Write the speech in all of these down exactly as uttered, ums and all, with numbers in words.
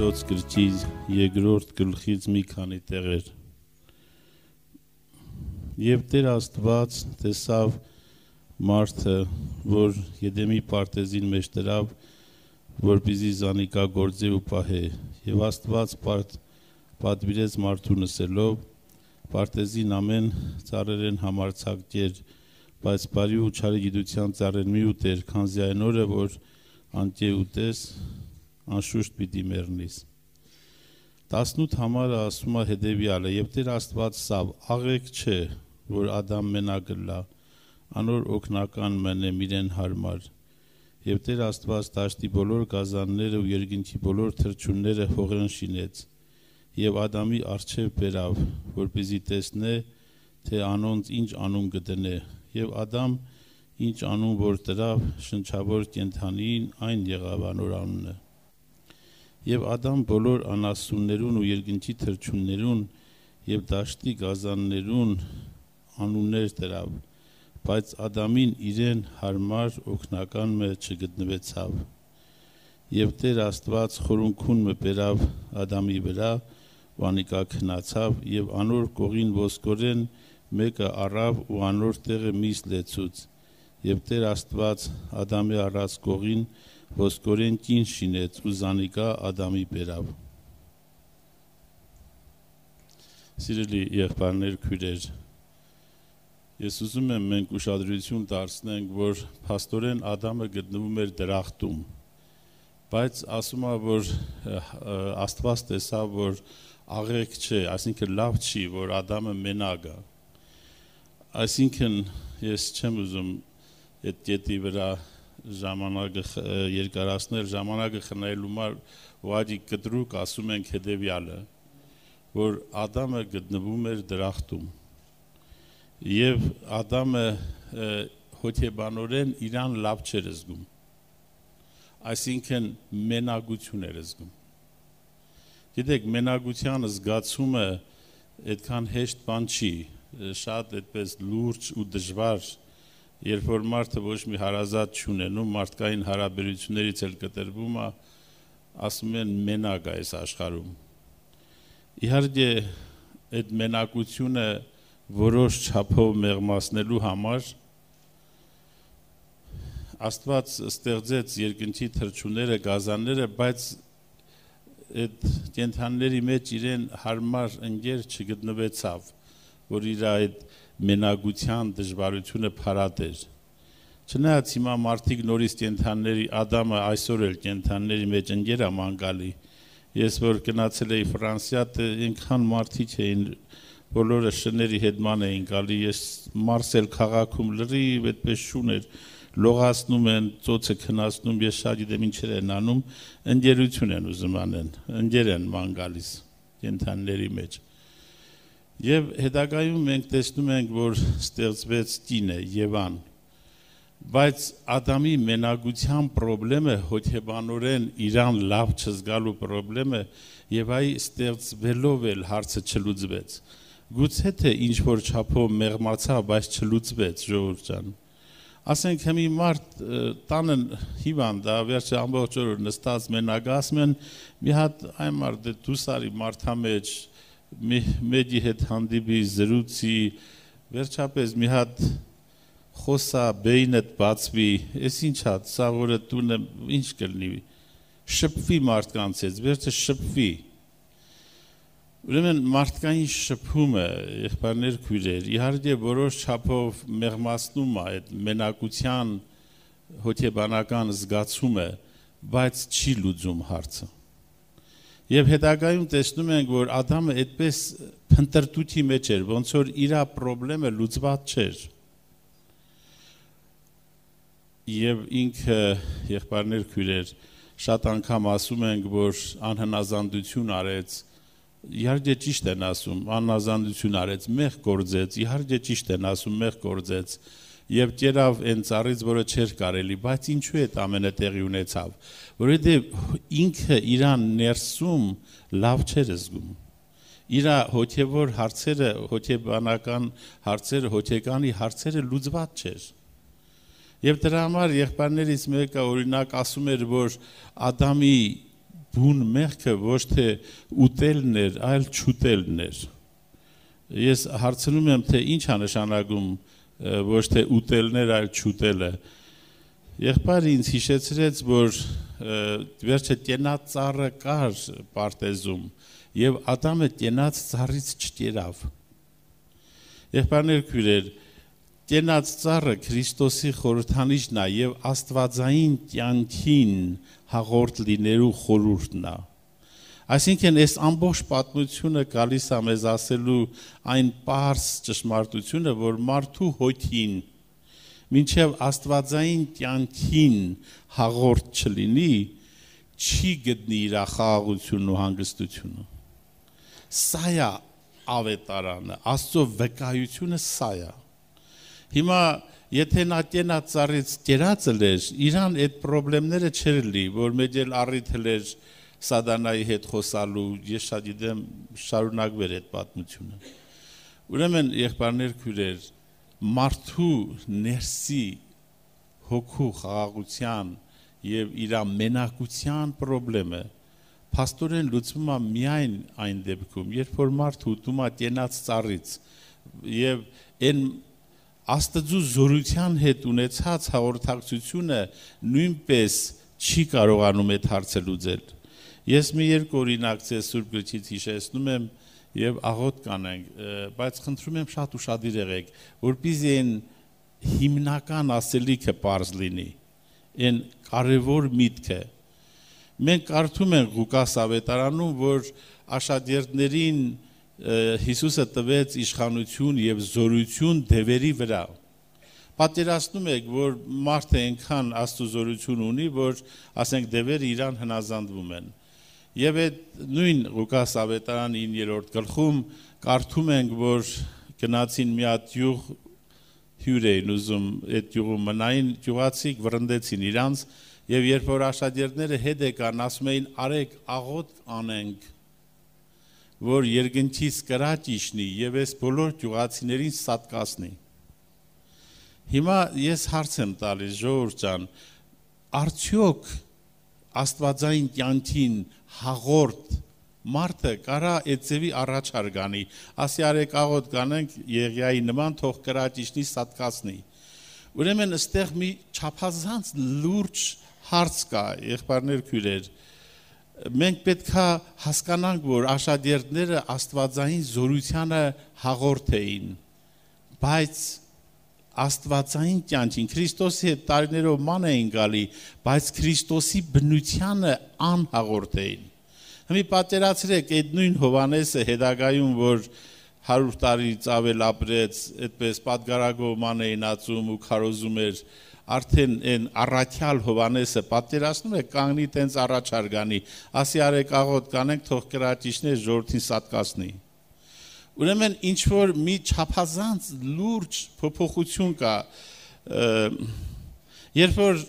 Աստվածաշնչոց գրքի երկրորդ գլխից մի քանի տեղեր։ Եվ Տեր Աստված տեսավ մարդը, որ Եդեմի պարտեզին մեջ դրավ, որպեսզի զանիկա գործե ու պահե, եւ Աստված պատվիրեց մարդուն ասելով. պարտեզին ամեն ծառերեն համարձակ կեր, բայց բարի ու չարի գիտության ծառեր մի ուտեր, քանզի այն օրը, որ անկե ուտես, անշուշտ պիտի մեռնիս։ տասնութ համարը ասում է հետևյալը. եւ Տեր Աստված սավ աղեք չէ, որ Ադամ մենակ լա, անոր օգնական մնե իրեն հարմար։ Եվ Տեր Աստված դաշտի բոլոր գազանները ու երկնքի բոլոր թռչունները հողրն շինեց, եւ Ադամի առջև բերավ, որպեսզի տեսնե, թե անոնց ինչ անուն գտնե, եւ Ադամ ինչ անուն որ տրավ շնչավոր կենդանին, այն եղավ անոր անունը։ Եվ Ադամ բոլոր անասուններուն ու երկնքի թռչուններուն եւ դաշտի գազաններուն անուններ տրավ, բայց Ադամին իրեն հարմար օգնական մը չգտնվեցավ։ Եվ Տեր Աստված խորունքուն մը բերավ Ադամի վրա, ու անիկա քնացավ, եւ անոր կողին ոսկորեն մեկը առավ ու անոր տեղը միս լեցուց, եւ Տեր Աստված Ադամի առած կողին ոսկորեն կին շինեց ու զանիկա Ադամի բերավ։ Սիրելի եղբայրներ, քույրեր, ես ուզում եմ մենք ուշադրություն դարձնենք, որ փաստորեն Ադամը գտնվում էր դրախտում, բայց ասում է, որ Աստված տեսավ, որ աղեք չէ, այսինքն լավ չի, որ Ադամը մենակ է։ Այսինքն ես չեմ ուզում այդ կետի վրա ժամանակը երկարացնել, ժամանակը խնայելու համար ուղղակի կտրուկ ասում ենք հետևյալը, որ Ադամը գտնվում էր դրախտում, եւ Ադամը հոգեբանորեն իրան լավ չէր զգում, այսինքն մենակություն էր զգում։ Գիտեք, մենակության զգացումը այդքան հեշտ բան չի, շատ այդպես լուրջ ու դժվար, երբ որ մարդը ոչ մի հարազատ չունենում, մարդկային հարաբերություններից էլ կտրվում է, ասում են մենակ է այս աշխարհում։ Իհարկե, այդ մենակությունը որոշ չափով մեղմացնելու համար Աստված ստեղծեց երկնքի թռչունները, գազանները, բայց այդ կենդանիների մեջ իրեն հարմար ընկեր չգտնվեցավ, որ իր այդ մենակության դժվարությունը փարատեր։ Չնայած հիմա մարդիկ նորից կենդանիների, Ադամը այսօր էլ կենդանիների մեջ ընկեր է մանգալի։ Ես որ գնացել էի Ֆրանսիա, այնքան մարդիկ էին, բոլորը շների հետման էին գալի, ես Մարսել քաղաքում լրիվ այդպես շուն էր, լողացնում են, ծոցը քնացնում, ես շատ գիտեմ ինչեր են անում, ընկերություն են ուզում անեն, ընկեր են ման գալիս կենդանիների մեջ։ Եվ հետագայում մենք տեսնում ենք, որ ստեղծվեց կինը, Եվան, բայց Ադամի մենակության պրոբլեմը, հոգեբանորեն իրան լավ չզգալու պրոբլեմը, եւ այ ստեղծվելով էլ հարցը չլուծվեց։ Գուցե թե ինչ որ չափով մեղմացավ, բայց չլուծվեց, ժողովուրդ ջան։ Ասենք հիմի մարդ տանը հիվանդ է, վերջը ամբողջ օր նստած մենակ, ասում են մի հատ այն մարդը դուսարի մարդամեջ մեջի հետ հանդիպի զրուցի, վերջապես մի հատ խոսա, բեյնդ բացվի, ես ինչ հատ, սա որը տունը ինչ կլնի, շպվի մարդկանց հետ, վերջը շպվի։ Ուրեմն մարդկային շփումը, եղբայրներ, քույրեր, իհարկե որոշ չափով մեղմացնում է այդ մենակության հոգեբանական զգացումը, բայց չի լուծում հարցը։ Եվ հետագայում տեսնում ենք, որ Ադամը այդպես փնտրտուքի մեջ էր, ոնց որ իր պրոբլեմը լուծված չէր։ Եվ ինքը, եղբայրներ, քույրեր, շատ անգամ ասում ենք, որ անհնազանդություն արեց, իհարկե ճիշտ են ասում, անհնազանդություն արեց, մեղ գործեց, իհարկե ճիշտ են ասում, մեղ գործեց, եւ կերավ այն ծառից, որը չէր կարելի, բայց ինչու է ամենը տեղի ունեցավ, որովհետեւ ինքը իրան ներսում լավ չէր զգում։ Իր հոգեվոր հարցերը, հոգեբանական հարցերը, հոգեկանի հարցերը լուծված չէր։ Եվ դրա համար եղբայրներից մեկը օրինակ ասում էր, որ Ադամի բուն մեղքը ոչ թե ուտելն էր, այլ չուտելն էր։ Ես հարցնում եմ, թե ինչ է նշանակում ոչ թե ուտելն էր, այլ չուտելը։ Եղբայրը ինձ հիշեցրեց, որ վերջը տենած ծառը կար պարտեզում եւ Ադամը տենած ծառից չկերավ։ Եղբայրներ քույրեր, տենած ծառը Քրիստոսի խորհրդանիշն է եւ աստվածային կյանքին հաղորդ լինելու խորհուրդն է։ Այսինքն այս ամբողջ պատմությունը գալիս է մեզ ասելու այն պարզ ճշմարտությունը, որ մարդու հոգին մինչև աստվածային կյանքին հաղորդ չլինի, չի գտնի իր խաղաղությունն ու հանգստությունը։ Սա է ավետարանը, Աստծո վկայությունը սա է։ Հիմա եթե նա տենած ծառից կերածել էր, իրան այդ խնդիրները չէր լի, որ մեծ էլ առիթել էր Սադանայի հետ խոսալու, ես շատ գիտեմ շարունակվեր այդ պատմությունը։ Ուրեմն եղբայրներ քույրեր, մարդու ներսի հոգու խաղաղության եւ իր մենակության խնդրը փաստորեն լուծվում է միայն այն դեպքում, երբ որ մարդը ուտում է տենած ծառից եւ այն Աստծո զորության հետ ունեցած հաղորդակցությունը նույնպես չի կարողանում այդ հարցը լուծել։ Ես մի երկու օրինակ ձեզ Սուրբ Գրքից հիշեցնում եմ եւ աղոտ կանենք, բայց խնդրում եմ շատ ուշադիր եղեք, որպեսզի այն հիմնական ասելիքը պարզ լինի, այն կարևոր միտքը։ Մենք կարդում ենք Ղուկաս ավետարանում, որ աշակերտներին Հիսուսը տվեց իշխանություն եւ զորություն դևերի վրա։ Պատկերացնում եք, որ մարդը այնքան Աստծո զորություն ունի, որ ասենք դևերը իրան հնազանդվում են։ Եվ այդ նույն Ղուկաս ավետարանի իններորդ գլխում կարդում ենք, որ գնացին մի հատ յուղ հյուր էին ուզում այդ յուղում մնային, յուղացիք վրընդեցին իրանց, եւ երբ որ աշակերտները հետ եկան, ասում էին արեք աղոտ անենք, որ երկնքից կրաճ իջնի եւ այս բոլոր յուղացիներին սատկացնի։ Հիմա ես հարց եմ տալիս, ժողովուրդ ջան, արդյոք աստվածային կյանքին հաղորդ մարդը կարա այդ ձևի առաջարկ անի, ասի արեք աղոտ կանենք Եղիայի նման, թող կրաճ իջնի սատկացնի։ Ուրեմն այստեղ մի չափազանց լուրջ հարց կա, եղբայրներ քույրեր։ Մենք պետք է հասկանանք, որ աշակերտները աստվածային զորությանը հաղորդ էին, բայց աստվածային կյանքին Քրիստոսի հետ տարիներով ման էին գալի, բայց Քրիստոսի բնությանը անհաղորդ էին։ Հիմա պատկերացրեք այդ նույն Հովհաննեսը հետագայում, որ հարյուր տարից ավել ապրեց, այդպես պատգարագով ման էին ածում ու քարոզում էր, արդեն այն առաքյալ Հովհաննեսը պատկերացնում եք կանգնի տենց առաջարգանի, ասի արեք աղոտ կանենք, թող կրաճիչներ ժողովրդին սատկացնի։ Ուրեմն ինչ որ մի չափազանց լուրջ փոփոխություն կա, երբ որ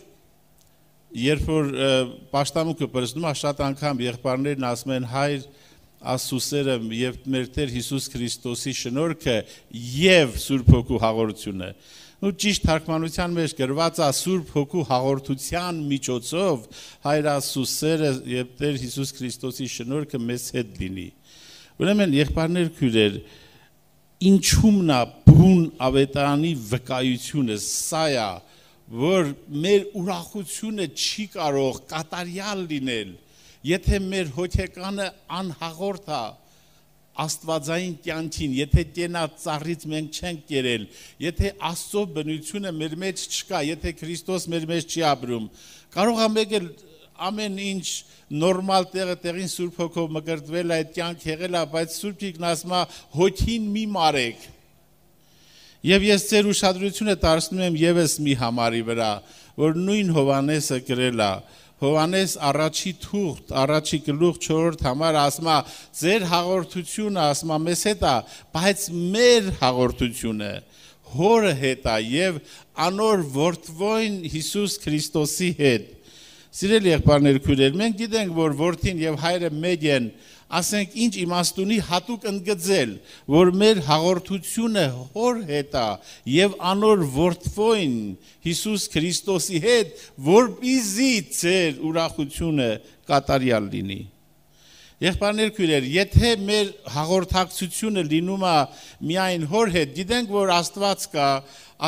երբ որ պաշտամունքը բրզնում է, շատ անգամ եղբայրներն ասում են հայր Աստծուսերը եւ մեր Տեր Հիսուս Քրիստոսի շնորհքը եւ Սուրբ Հոգու հաղորդությունը։ Ու ճիշտ թարգմանության մեջ գրված է Սուրբ Հոգու հաղորդության միջոցով հայր Աստծուսերը եւ Տեր Հիսուս Քրիստոսի շնորհքը մեզ հետ լինի։ Ուրեմն եղբայրներ քույրեր, ինչումն է բուն ավետարանի վկայությունը, սա է, որ մեր ուրախությունը չի կարող կատարյալ լինել, եթե մեր հոգեկանը անհաղորդ է աստվածային կյանքին, եթե տենած ծառից մենք չենք կերել, եթե Աստծո բնությունը մեր մեջ չկա, եթե Քրիստոս մեր մեջ չի ապրում, կարող է մեկ էլ ամեն ինչ նորմալ տեղը տեղին Սուրբ Հոգով մկրտվել է, այդ կյանք եղել է, բայց Սուրբ Գիրքն ասում է հոգին մի մարեք։ Եվ ես ձեր ուշադրությունը դարձնում եմ եւս մի համարի վրա, որ նույն Հովհաննեսը գրել է, Հովհաննես առաջի թուղթ, առաջի գլուխ չորրորդ համար ասում է ձեր հաղորդությունը, ասում է մեզ հետ է, բայց մեր հաղորդությունը Հորը հետ է եւ անոր որդվոյն Հիսուս Քրիստոսի հետ։ Սիրելի եղբայրներ, քույրեր, մենք գիտենք, որ որդին եւ հայրը մեկ են, ասենք ինչ իմաստունի հատուկ ընդգծել, որ մեր հաղորդությունը հոր հետ է եւ անոր որդվոյն Հիսուս Քրիստոսի հետ, որպեսզի ձեր ուրախությունը կատարյալ լինի։ Եղբայրներ, քույրեր, եթե մեր հաղորդակցությունը լինում է միայն հոր հետ, գիտենք, որ Աստված կա,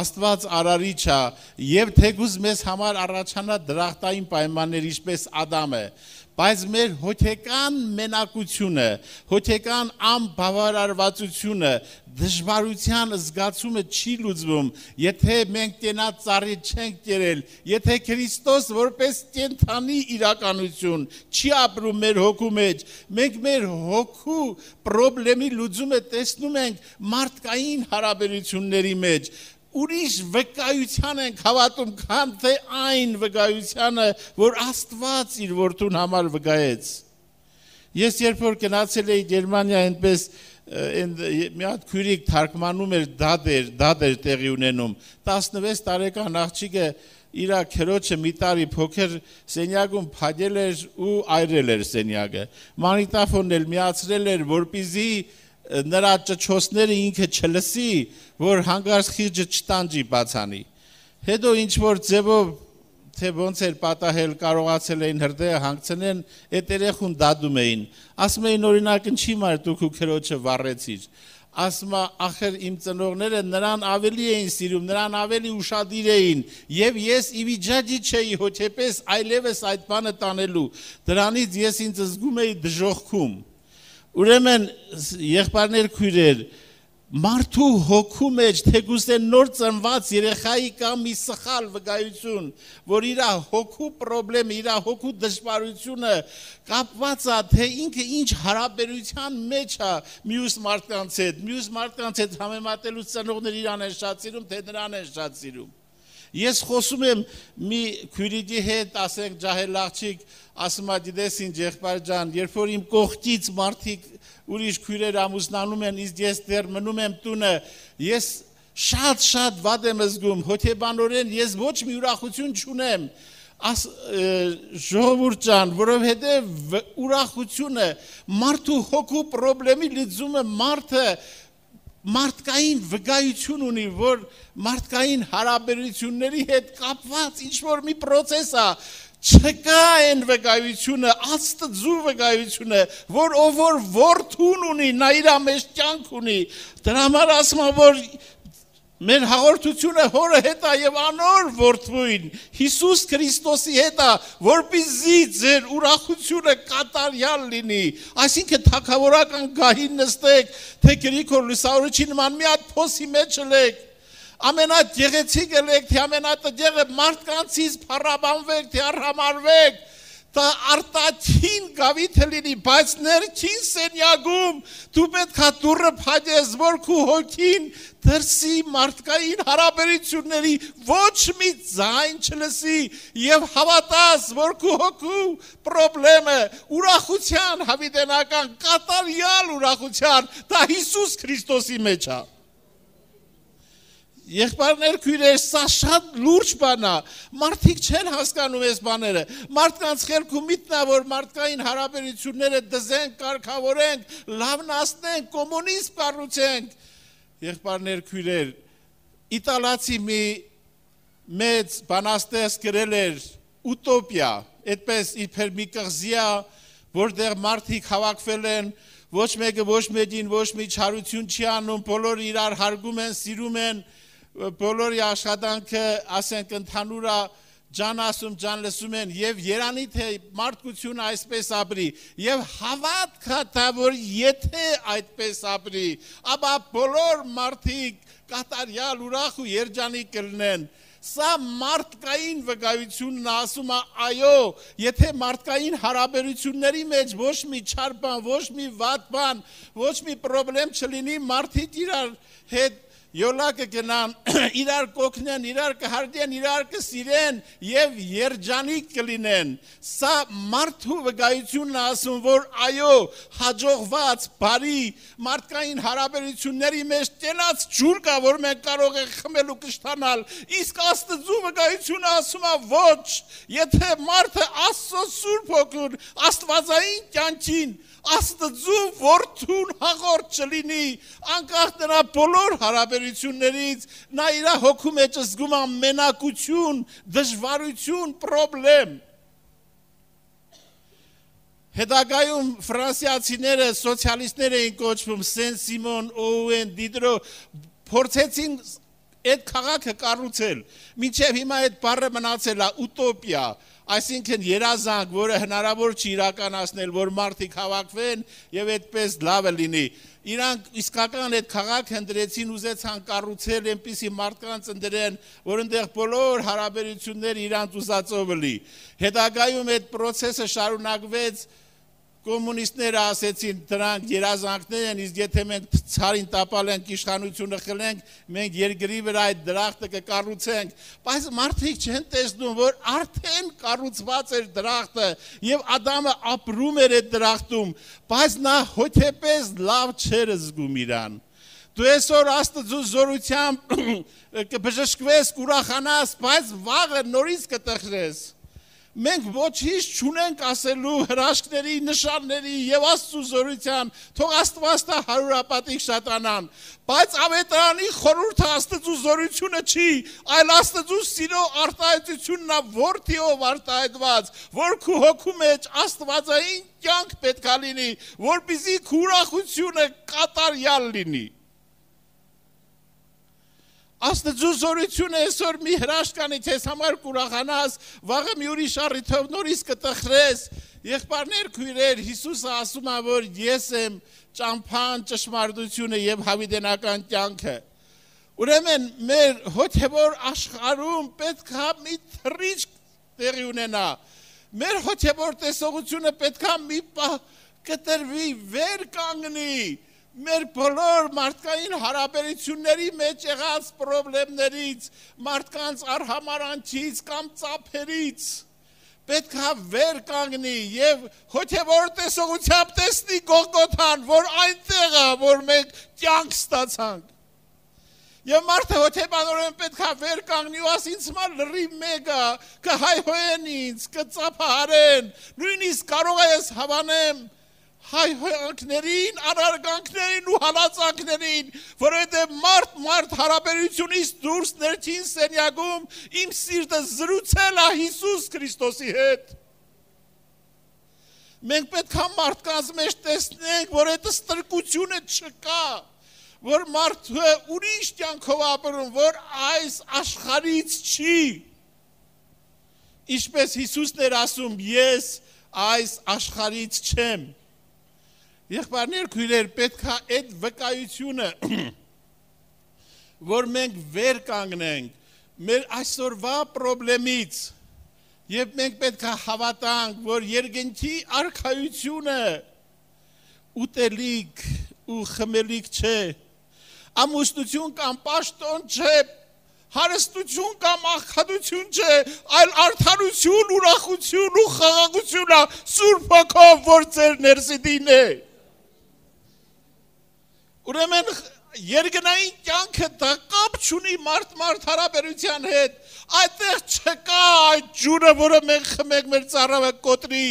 Աստված արարիչ է եւ թեկուզ մեզ համար առաջանա դրախտային պայմաններ, ինչպես Ադամը, բայց մեր հոգեկան մենակությունը, հոգեկան անբավարարվածությունը, դժվարության զգացումը չի լուծվում, եթե մենք կենաց ծառի չենք կերել, եթե Քրիստոս որպես կենդանի իրականություն չի ապրում մեր հոգու մեջ, մենք մեր հոգու խնդրի լուծումը տեսնում ենք մարդկային հարաբերությունների մեջ, ուրիշ վկայության ենք հավատում, քան թե այն վկայությանը, որ Աստված իր որդուն համար վկայեց։ Ես երբ որ գնացել էի Գերմանիա, այնպես մի հատ քույրիկ թարգմանում էր դադեր, դադեր տեղի ունենում, տասնվեց տարեկան աղջիկը իր քրոջը մի տարի փոքր սենյակում փակել էր ու այրել էր սենյակը։ Մանիտաֆոնն էլ միացրել էր, որպեսզի նրա ճչոցները ինքը չլսի, որ հանգարց խիղճը չտանջի բացանի։ Հետո ինչ որ ձևով թե ոնց էր պատահել, կարողացել էին հրդեհը հանգցնեն, այդ երեխուն դադում էին։ Ասում էին օրինակ ինչի մար դուք ու քրոջը վառեցիր։ Ասում ախր իմ ծնողները նրան ավելի էին սիրում, նրան ավելի ուշադիր էին, եւ ես ի վիճակի չէի հոգեպես այլևս այդ բանը տանելու։ Դրանից ես ինձ զգում էի դժոխքում։ Ուրեմն եղբայրներ, քույրեր, մարդու հոգու մեջ թեկուզ է նոր ծնված երեխայի կամ մի սխալ վկայություն, որ իր հոգու խնդրը, իր հոգու դժվարությունը կապված է, թե ինքը ինչ հարաբերության մեջ է մյուս մարդկանց հետ, մյուս մարդկանց հետ համեմատելու ծնողներ իրան են շատ սիրում, թե նրան են շատ սիրում։ Ես խոսում եմ մի քույրիկի հետ, ասենք ջահել աղջիկ, ասում է գիտես ինչ եղբայր ջան, երբ որ իմ կողքից մարդիկ ուրիշ քույրեր ամուսնանում են, իսկ ես դեռ մնում եմ տունը, ես շատ-շատ վատ եմ զգում, հոգեբանորեն ես ոչ մի ուրախություն չունեմ, ժողովուրդ ջան, որովհետև ուրախությունը մարդու հոգու խնդրի լուծումը մարդը մարդկային վկայություն ունի, որ մարդկային հարաբերությունների հետ կապված ինչ-որ մի պրոցես է, չկա այն վկայությունը, Աստծու վկայությունը, որ ով որ որդուն ունի, նա իր մեջ կյանք ունի, դրա համար ասում եմ, որ մեր հաղորդությունը հորը հետ է եւ անոր որդվույն Հիսուս Քրիստոսի հետ է, որպեսզի ձեր ուրախությունը կատարյալ լինի, այսինքն թագավորական գահին նստեք, թե Գրիգոր Լուսավորչի նման մի հատ փոսի մեջ ելեք, ամենագեղեցիկը եք, թե ամենատեղը մարդկանցից փառաբանվեք, թե արհամարվեք, դա արտաքին գավիթը լինի, բայց ներքին սենյակում դու պետք է դուռը փակես, որ քո հոգին դրսի մարդկային հարաբերությունների ոչ մի ձայն չլսի եւ հավատաս, որ քո հոգու խնդրը ուրախության հավիտենական կատարյալ ուրախության դա Հիսուս Քրիստոսի մեջ է։ Եղբայրներ, քույրեր, սա շատ լուրջ բան է, մարդիկ չեն հասկանում այս բաները, մարդկանց խելքում միտն է, որ մարդկային հարաբերությունները դզենք, կարգավորենք, լավնացնենք, կոմունիզմ կառուցենք։ Եղբայրներ, քույրեր, իտալացի մի մեծ բանաստեղծ գրել էր ուտոպիա, այդպես իբր մի կղզի է, որտեղ մարդիկ հավաքվել են, ոչ մեկը ոչ մեկին ոչ մի չարություն չի անում, բոլորը իրար հարգում են, սիրում են, բոլորի աշխատանքը, ասենք, ընդհանուր է, ջան ասում, ջան լսում են, եւ երանի թե մարդկությունը այսպես ապրի, եւ հավատք է, որ եթե այդպես ապրի, ապա բոլոր մարդիկ կատարյալ ուրախ ու երջանիկ կլինեն։ Սա մարդկային վկայությունն ասում է, այո, եթե մարդկային հարաբերությունների մեջ ոչ մի չար բան, ոչ մի վատ բան, ոչ մի խնդրեմ չլինի, մարդիկ իրար հետ յոլակը գնան, իրար կօգնեն, իրար կհարգեն, իրար կսիրեն եւ երջանիկ կլինեն։ Սա մարդու վկայությունն է ասում, որ այո, հաջողված, բարի մարդկային հարաբերությունների մեջ տենած ջուր կա, որ մենք կարող ենք խմել ու կշտանալ։ Իսկ Աստծո վկայությունը ասում է ոչ, եթե մարդը Աստծո Սուրբ Հոգուն, Աստվածային կյանքին Աստծո որդուն հաղորդ չլինի, անկախ նրա բոլոր հարաբերություններից, նա իր հոգու մեջ զգում է մենակություն, դժվարություն, պրոբլեմ։ Հետագայում ֆրանսիացիները, սոցիալիստներ էին կոչվում, Սեն-Սիմոն, Օուեն, Դիդրո, փորձեցին այդ քաղաքը կառուցել, մինչև հիմա այդ բառը մնացել է ուտոպիա, այսինքն երազանք, որը հնարավոր չի իրականացնել, որ մարդիկ հավաքվեն եւ այդպես լավը լինի։ Իրանք իսկական այդ քաղաքը ընդրեցին, ուզեցան կառուցել այնպիսի մարդկանց ընդրեն, որ այնտեղ բոլոր հարաբերությունները իրանց ուզածով լի։ Հետագայում այդ process-ը շարունակվեց, կոմունիստները ասեցին դրանք երազանքներ են, իսկ եթե մենք ցարին տապալ ենք, իշխանությունը խլենք, մենք երկրի վրա այդ դրախտը կկառուցենք, բայց մարդիկ չեն տեսնում, որ արդեն կառուցված էր դրախտը եւ Ադամը ապրում էր այդ դրախտում, բայց նա հոգեպես լավ չէր զգում իրան։ Դու այսօր Աստծո զորությամբ կբժշկվես, կուրախանաս, բայց վաղը նորից կտխրես։ Մենք ոչինչ չունենք ասելու հրաշքների, նշանների եւ Աստծո զորության, թող Աստված տա հարյուրապատիկ շատանան, բայց ավետարանի խորհուրդը Աստծո զորությունը չի, այլ Աստծո սիրո արտահայտությունն է որդիով արտահայտված, որ քու հոգու մեջ աստվածային կյանք պետք է լինի, որպեսզի քու ուրախությունը կատարյալ լինի։ Աստծո զորությունը այսօր մի հրաշքանի քեզ համար կուրախանաս, վաղը մի ուրիշ առիթով նորից կտխրես։ Եղբայրներ, քույրեր, Հիսուսը ասում է, որ ես եմ ճամփան, ճշմարտությունը եւ հավիտենական կյանքը։ Ուրեմն մեր հոգեվոր աշխարհում պետք է մի թռիչք տեղի ունենա։ Մեր հոգեվոր տեսողությունը պետք է մի պահ կտրվի, վեր կանգնի։ Մեր բոլոր մարդկային հարաբերությունների մեջ եղած պրոբլեմներից, մարդկանց արհամարանքից կամ ծափերից պետք է վեր կանգնի եւ հոգեվոր տեսողությամբ տեսնի Գողգոթան, որ այնտեղ է, որ մենք կյանք ստացանք։ Եվ մարդը հոգեբանորեն պետք է վեր կանգնի ու ասի ինձ համար լրիվ մեկ է, կհայհոյեն ինձ, կծափահարեն, նույնիսկ կարող է ես հավանեմ հայհոյանքներին, անարգանքներին ու հալածանքներին, որովհետև մարդ-մարդ հարաբերությունից դուրս ներքին սենյակում իմ սիրտը զրուցել է Հիսուս Քրիստոսի հետ։ Մենք պետք է մարդկանց մեջ տեսնենք, որ այդ ստրկությունը չկա, որ մարդը ուրիշ կյանքով ապրում, որ այս աշխարհից չի։ Ինչպես Հիսուսն էր ասում, ես այս աշխարհից չեմ։ Եղբայրներ, քույրեր, պետք է այդ վկայությունը, որ մենք վեր կանգնենք մեր այսօրվա պրոբլեմից, եւ մենք պետք է հավատանք, որ երկնքի արքայությունը ուտելիք ու խմելիք չէ, ամուսնություն կամ պաշտոն չէ, հարստություն կամ աղքատություն չէ, այլ արդարություն, ուրախություն ու խաղաղություն է Սուրբ Հոգով, որ ձեր ներսիդին է։ Ուրեմն երկնային կյանքը դա կապ չունի մարդ-մարդ հարաբերության հետ, այդտեղ չկա այդ ջուրը, որը մենք խմենք մեր ծառավը կոտրի։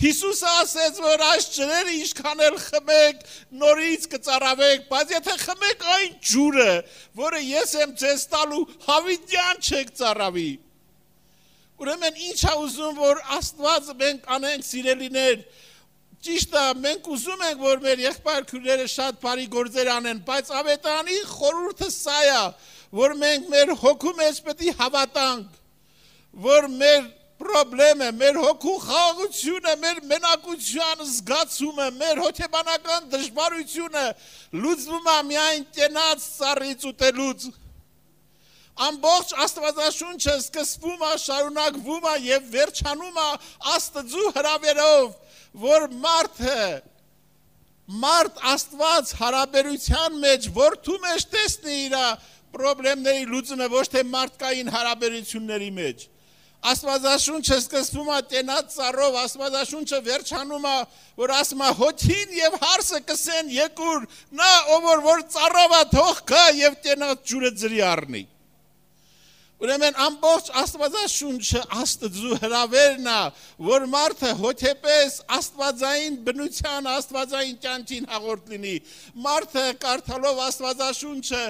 Հիսուսը ասեց, որ այս ջրերը ինչքան էլ խմեք, նորից կծառավեք, բայց եթե խմեք այն ջուրը, որը ես եմ ձեզ տալու, հավիտյան չեք ծառավի։ Ուրեմն ինչ է ուզում, որ Աստված մենք անենք, սիրելիներ, ճիշտ է, մենք ուզում ենք, որ մեր եղբայր քույրերը շատ բարի գործեր անեն, բայց ավետարանի խորհուրդը սա է, որ մենք մեր հոգու մեջ պետք է հավատանք, որ մեր պրոբլեմը, մեր հոգու խաղաղությունը, մեր մենակության զգացումը, մեր հոգեբանական դժվարությունը լուծվում է միայն կենաց ծառից ուտելուց։ Ամբողջ Աստվածաշունչը սկսվում է, շարունակվում է եւ վերջանում է Աստծո հրավերով, որ մարդը մարդ Աստված հարաբերության մեջ որդու մեջ տեսնի իր պրոբլեմների լուծումը, ոչ թե մարդկային հարաբերությունների մեջ։ Աստվածաշունչը սկսվում է տենած ծառով, Աստվածաշունչը վերջանում է, որ ասում է հոթին եւ հարսը կսեն եկուր, նա ով որ ծառով է թող գա եւ տենած ջուրը ձրի առնի։ Ուրեմն ամբողջ Աստվածաշունչը Աստծու հրավերն է, որ մարդը հոգեպես աստվածային բնության, աստվածային կյանքին հաղորդ լինի։ Մարդը կարդալով Աստվածաշունչը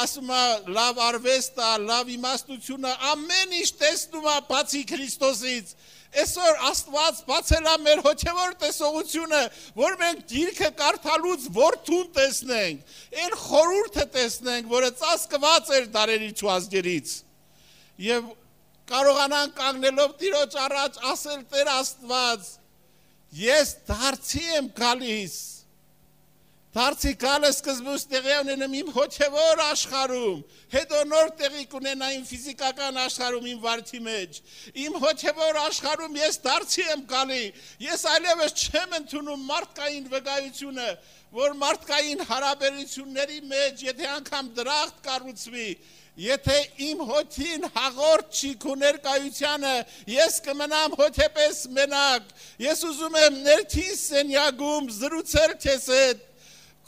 ասում է լավ արվեստ է, լավ իմաստություն է, ամեն ինչ տեսնում է բացի Քրիստոսից։ Այսօր Աստված բացել է մեր հոգևոր տեսողությունը, որ մենք գիրքը կարդալուց որդուն տեսնենք, այն խորհուրդը տեսնենք, որը ծածկված էր դարերից ու ազգերից։ Եվ կարողանան կանգնելով Տիրոջ առաջ ասել Տեր Աստված, ես դարձի եմ գալիս, դարձի գալը սկզբուց տեղի ունենեմ իմ հոգևոր աշխարհում, հետո նոր տեղի կունենա իմ ֆիզիկական աշխարհում, իմ վարքի մեջ, իմ հոգևոր աշխարհում ես դարձի եմ գալի, ես այլևս չեմ ընդունում մարդկային վկայությունը, որ մարդկային հարաբերությունների մեջ, եթե անգամ դրախտ կառուցվի, եթե իմ հոգին հաղորդ չի քո ներկայությանը, ես կմնամ հոգեպես մենակ, ես ուզում եմ ներքին սենյակում զրուցել քեզ հետ,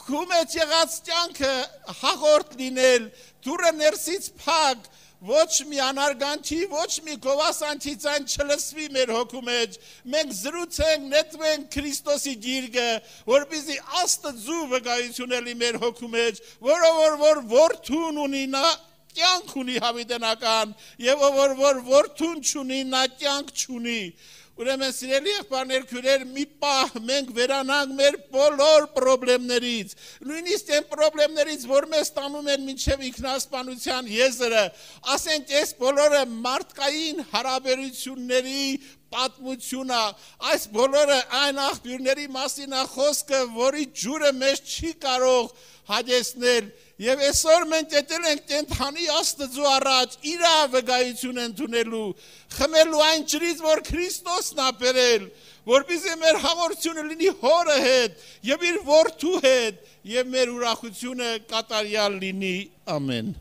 քո մեջ եղած կյանքը հաղորդ լինել, դուրը ներսից փակ, ոչ մի անարգանքի, ոչ մի գովասանքի ձայն չլսվի մեր հոգու մեջ, մենք զրուցենք, նետվենք Քրիստոսի գիրկը, որպեսզի Աստծու վկայություն լինի մեր հոգու մեջ, որով որ որդուն ունի նա կյանք ունի հավիտենական, եւ ով որ որդուն չունի, նա կյանք չունի։ Ուրեմն սիրելի եղբայրներ, քույրեր, մի պահ մենք վերանանք մեր բոլոր պրոբլեմներից, նույնիսկ այն պրոբլեմներից, որ մեզ տանում են մինչև ինքնասպանության եզրը, ասենք այս բոլորը մարդկային հարաբերությունների պատմությունը, այս բոլորը այն աղբյուրների մասին է խոսքը, որի ջուրը մեզ չի կարող հաջեցնել, եւ այսօր մենք եկել ենք կենթանի Աստծու առաջ իր վկայություն ընդունելու, խմելու այն ջրից, որ Քրիստոսն է բերել, որպեսզի մեր հաղորդությունը լինի հորը հետ եւ իր որդու հետ եւ մեր ուրախությունը կատարյալ լինի։ Ամեն։